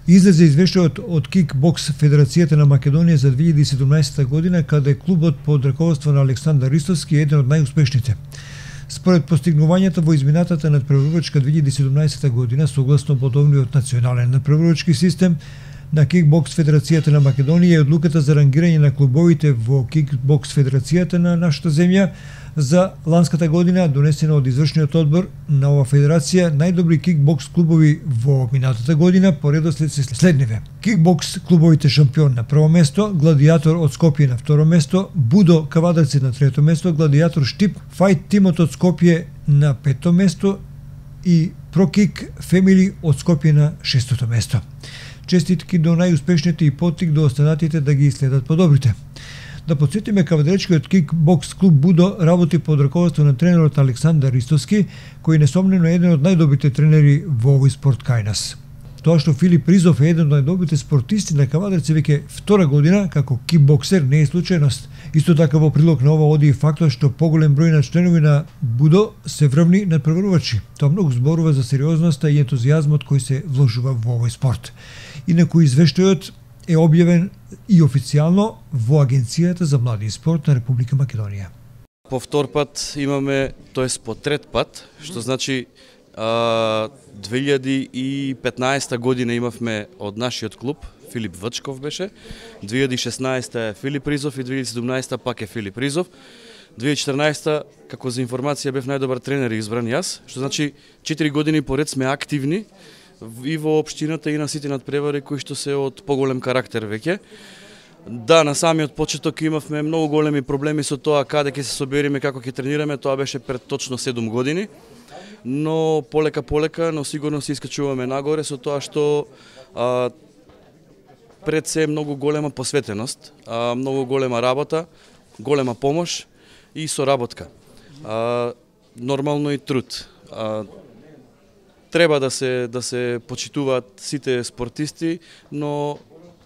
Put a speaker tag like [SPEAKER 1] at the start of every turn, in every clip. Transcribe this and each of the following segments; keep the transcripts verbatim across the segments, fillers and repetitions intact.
[SPEAKER 1] Излезе извештајот од Кикбокс Федерацијата на Македонија за две илјади и седумнаесета година, каде клубот под раководство на Александар Ристовски е еден од најуспешните. Според постигнувањата во изминатата надпреварувачка две илјади и седумнаесета година, согласно бодовниот национален надпреварувачки систем на Кикбокс Федерацијата на Македонија и одлуката за рангирање на клубовите во Кикбокс Федерацијата на нашата земја за ланската година, донесена од извршниот одбор на ова федерација, најдобри кикбокс клубови во минатата година по редослед се следниве: Кикбокс клубовите шампион на прво место, Гладијатор од Скопје на второ место, Будо Кавадарци на трето место, Гладијатор Штип, Фајт Тимот од Скопје на пето место и Прокик Фемили од Скопје на шестото место. Честитки до најуспешните и поттик до останатите да ги следат подобрите. Да подсетиме, кавадаречкиот кикбокс клуб Будо работи под раководство на тренерот Александар Ристовски, кој несомнено е еден од најдобрите тренери во овој спорт кај нас. Тоа што Филип Ризов е еден од најдобрите спортисти на Кавадарци веќе втора година како кикбоксер не е случајност. Исто така во прилог на ова оди и фактот што поголем број на членови на Будо се врвни надпреварувачи. Тоа многу зборува за сериозноста и ентузијазмот кој се вложува во овој спорт. Инаку извештајот е објавен и официјално во Агенцијата за млади и спорт на Република Македонија.
[SPEAKER 2] По втор пат имаме, тоест по трет пат, што значи а, две илјади и петнаесета година имавме од нашиот клуб, Филип Вачков беше, две илјади и шеснаесета е Филип Ризов и две илјади и седумнаесета пак е Филип Ризов. две илјади и четрнаесета, како за информација, бев најдобар тренер и избран јас, што значи четири години поред сме активни и во општината и на сите надпревари кои што се од поголем карактер веќе. Да, на самиот почеток имавме многу големи проблеми со тоа каде ќе се собериме, како ќе тренираме, тоа беше пред точно седум години. Но полека полека, но сигурно се искачуваме нагоре со тоа што а, пред се е многу голема посветеност, а, многу голема работа, голема помош и соработка. А, нормално и труд. А, Треба да се да се почитуваат сите спортисти, но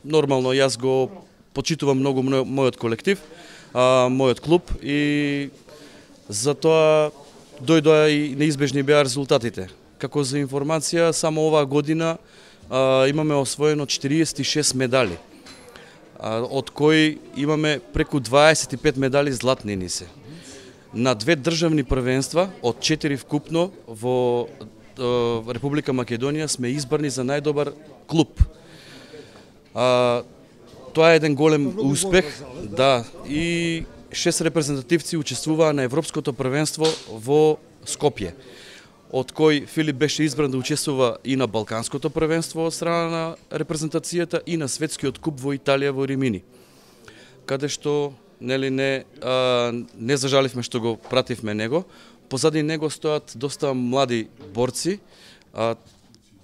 [SPEAKER 2] нормално јас го почитувам многу мојот колектив, а, мојот клуб и затоа дојдоа и неизбежни беа резултатите. Како за информација, само оваа година а, имаме освоено четириесет и шест медали, а, од кои имаме преку дваесет и пет медали златни ни се. На две државни првенства, од четири вкупно во Република Македонија сме избрани за најдобар клуб. А, тоа е еден голем успех, да, и шест репрезентативци учествуваа на Европското првенство во Скопје, од кој Филип беше избран да учествува и на Балканското првенство од страна на репрезентацијата и на Светскиот куп во Италија во Римини, каде што нели не а, не зажаливме што го пративме него. Позади него стојат доста млади борци, а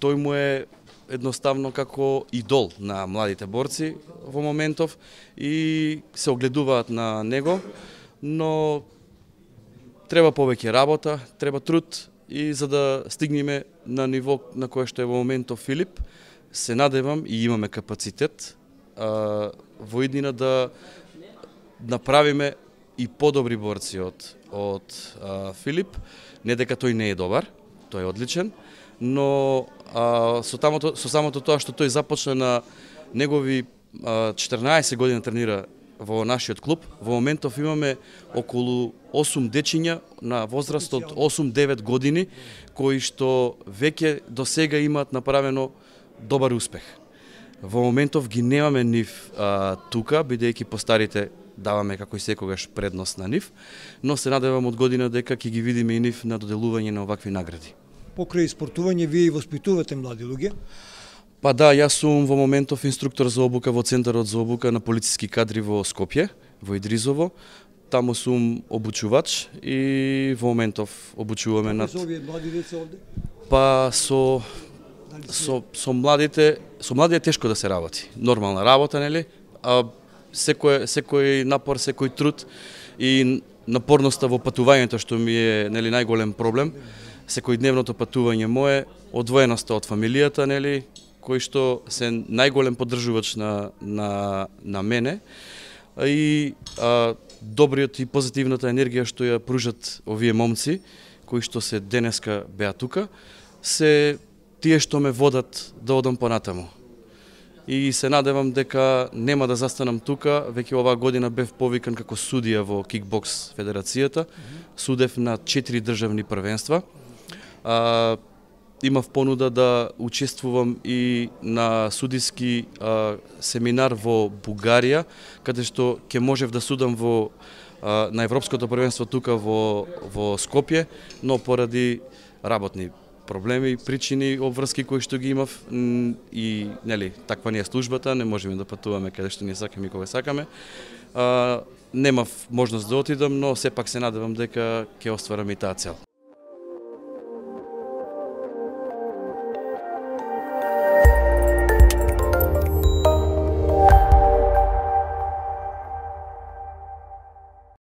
[SPEAKER 2] тој му е едноставно како идол на младите борци во моментов и се огледуваат на него, но треба повеќе работа, треба труд и за да стигнеме на ниво на кое што е во моментов Филип, се надевам и имаме капацитет а, во иднина да направиме и подобри борци од од а, Филип, не дека тој не е добар, тој е одличен, но а, со, тамото, со самото тоа што тој започна на негови а, четрнаесет години тренира во нашиот клуб, во моментов имаме околу осум дечиња на возраст од осум-девет години, кои што веќе до сега имаат направено добар успех. Во моментов ги немаме нив а, тука, бидејќи постарите даваме како и секогаш предност на нив, но се надевам од година дека ќе ги видиме и нив на доделување на овакви награди.
[SPEAKER 1] Покрај спортување, вие и воспитувате млади луѓе?
[SPEAKER 2] Па да, јас сум во моментов инструктор за обука во Центарот за обука на полициски кадри во Скопје, во Идризово. Таму сум обучувач и во моментов обучуваме над...
[SPEAKER 1] Како се овие млади деца овде?
[SPEAKER 2] Па со... со, со младите, со млади е тешко да се работи. Нормална работа, нели? А секој секој напор, секој труд и напорноста во патувањето што ми е нели најголем проблем. Секојдневното патување мое, одвоеноста од фамилијата, нели, кој што се најголем поддржувач на на на мене и а, добриот и позитивната енергија што ја пружат овие момци кои што се денеска беа тука, се тие што ме водат да одам понатаму. и се надевам дека нема да застанам тука. Веќе оваа година бев повикан како судија во кикбокс федерацијата. Судев на четири државни првенства. А, имав понуда да учествувам и на судиски а, семинар во Бугарија, каде што ќе можев да судам во а, на Европското првенство тука во во Скопје, но поради работни проблеми, причини, обврски кои што ги имав и нели таква ни е службата, не можеме да патуваме каде што ни сакаме и кога сакаме. А, немав можност да отидам, но сепак се надевам дека ќе остварам и таа цел.